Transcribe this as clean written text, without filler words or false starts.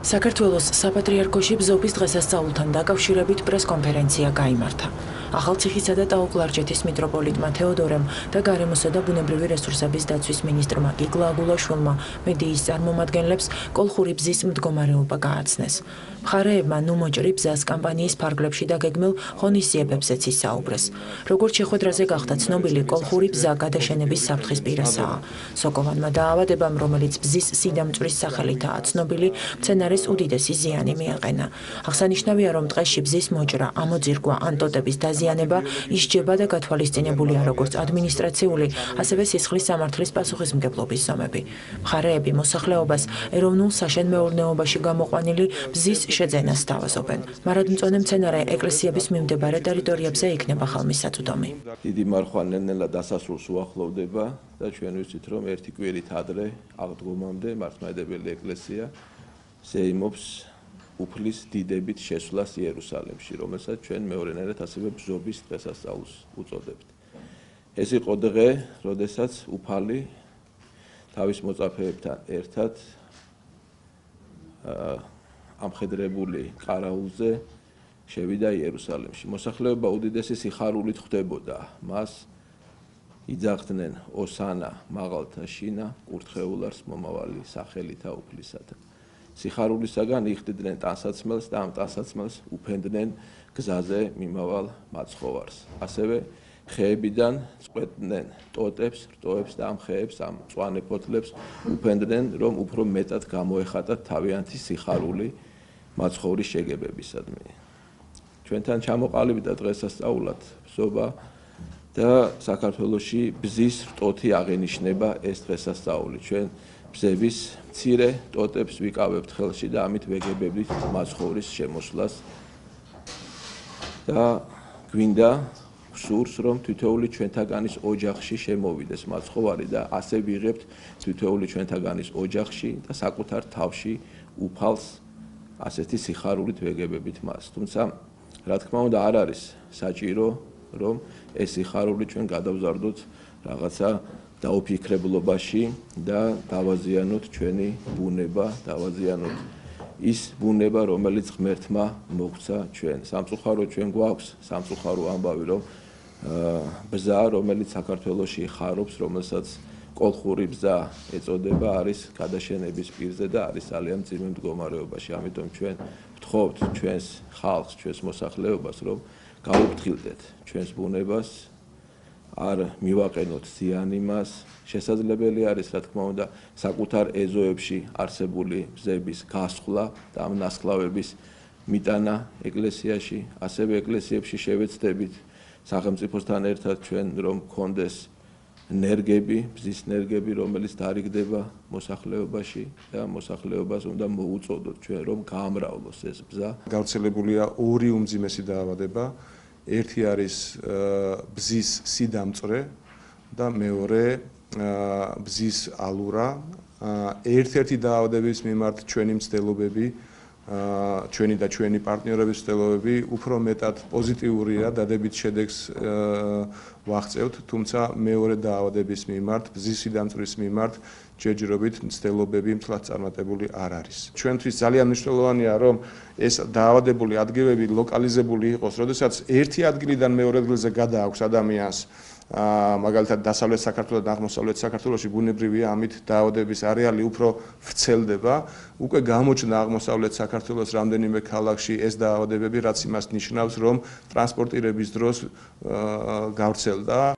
საქართველოს საპატრიარქოში ბზობის დღესასწაულთან დაკავშირებით პრესკონფერენცია გაიმართა. ახალციხისა და ტაო-კლარჯეთის მიტროპოლიტმა თეოდორემ და გარემოსა და ბუნებრივი რესურსების დაცვის მინისტრმა გიგლა აგულაშვილმა მედიის წარმომადგენლებს კოლხური ბზის მდგომარეობა გააცნეს. მხარეებმა ნუ მოჭრი ბზას კამპანიის ფარგლებში დაგეგმილ ღონისძიებებზეც ისაუბრეს. როგორც შეხვედრაზე გახდა ცნობილი, კოლხური ბზა გადაშენების საფრთხის პირასაა. სოკოვანმა დაავადებამ, რომელიც ბზის სიდამწვრის სახელითაა ცნობილი, მცენარეს უდიდესი ზიანი მიაყენა. აღსანიშნავია, რომ ტყეში ბზის მოჭრა, ამოძირკვა ან ტოტების დაზიანება ისჯება და გათვალისწინებულია როგორც ადმინისტრაციული, ასევე სისხლის სამართლის პასუხისმგებლობის ზომები. მხარეები მოსახლეობას ეროვნულ საშენ-მეურნეობაში გამოყვანილი ბზის შეძენას სთავაზობენ. მარადმწვანე მცენარე ეკლესიების მიმდებარე ტერიტორიებზე იქნება ხალმისაწვდომი. დიდი მარხვა ნელ-ნელა დასასრულს უახლოვდება და ჩვენ ვიცით, რომ ერთი კვირით ადრე აღდგომამდე მართლმადიდებელი ეკლესია ზეიმობს უფლის დიდებით შესვლას იერუსალიმში, რომელსაც ჩვენ მეორენაირად ასევე ბზობის დღესასწაულს უწოდებთ. ეს იყო დღე, როდესაც უფალი თავის მოწაფეებთან ერთად ამხედრებული ყარაულზე შევიდა იერუსალიმში. მოსახლეობა უდიდესი სიხარულით ხვდებოდა მას. იძახდნენ ოსანა მაღალთა შინა, კურთხეულარს მომავალი სახელითა უფლისათა. სიხარულისაგან იხდიდნენ ტანსაცმელს და ამ ტანსაცმელს უფენდნენ გზაზე მიმავალ მაცხოვარს. ასევე ხეებიდან წყვეტდნენ ტოტებს, რტოებს და ამ ხეებს, ამ მწვანე ფოთლებს უფენდნენ, რომ უფრო მეტად გამოეხატათ თავიანთი სიხარული მაცხოვრის შეგებებისადმი. ჩვენთან ჩამოყალიბდა დღესასწაულად ბზობა და საქართველოში ბზის რტოთი აღენიშნება ეს დღესასწაული. ჩვენ ბზების მცირე ტოტებს ვიკავებთ ხელში და ამით ვეგებებით მაცხოვრის შემოსვლას და გვინდა გსურს, რომ თითოეული ჩვენთაგანის ოჯახში შემოვიდეს მაცხოვარი და ასე ვიღებთ თითოეული ჩვენთაგანის ოჯახში და საკუთარ თავში უფალს ასეთი სიხარულით ვეგებებით მას. თუმცა, რა თქმა უნდა, არ არის საჭირო, რომ ეს სიხარული ჩვენ გადავზარდოთ რაღაცა დაუფიქრებლობაში და დავაზიანოთ ჩვენი ბუნება, დავაზიანოთ ის ბუნება, რომელიც ღმერთმა მოგვცა ჩვენ. სამწუხაროდ ჩვენ გვაქვს სამწუხარო ამბავი, რომ ბზა, რომელიც საქართველოში ხარობს, რომელსაც კოლხური ბზა ეწოდება, არის გადაშენების პირზე და არის ძალიან მძიმე მდგომარეობაში. ამიტომ ჩვენ ვთხოვთ ჩვენს ხალხს, ჩვენს მოსახლეობას, რომ გაუფრთხილდეთ ჩვენს ბუნებას, არ მივაყენოთ ზიანი მას. შესაძლებელი არის, რა თქმა უნდა, საკუთარ ეზოებში არსებული ბზების გასხლა და ამ ნასხლავების მიტანა ეკლესიაში, ასევე ეკლესიებში შევეცდებით სახელმწიფოსთან ერთად ჩვენ, რომ გქონდეს ნერგები, ბზის ნერგები, რომელიც დარიგდება მოსახლეობაში და მოსახლეობას უნდა მოუწოდოთ ჩვენ, რომ გაამრავლოს ეს ბზა. გავრცელებულია ორი უმძიმესი დაავადება. ერთი არის ბზის სიდამწვრი და მეორე ბზის ალურა. ერთ-ერთი დაავადების მიმართ ჩვენი მცდელობები, ჩვენი და ჩვენი პარტნიორების მცდელობები უფრო მეტად პოზიტიურია, დადებით შედეგს ვაღწევთ, თუმცა მეორე დაავადების მიმართ, ბზის სიდამწვრის მიმართ ჯერჯერობით მცდელობები მთლად წარმატებული არ არის. ჩვენთვის ძალიან მნიშვნელოვანია, რომ ეს დაავადებული ადგილები ლოკალიზებული იყოს, როდესაც ერთი ადგილიდან მეორე ადგილზე გადააქვს ადამიანს, მაგალითად დასავლეთ საქართველოს და აღმოსავლეთ საქართველოში ბუნებრივია, ამით დაავადების არეალი უფრო ვრცელდება. უკვე გამოჩნდა აღმოსავლეთ საქართველოს რამდენიმე ქალაქში ეს დაავადებები, რაც იმას ნიშნავს, რომ ტრანსპორტირების დროს გავრცელდა.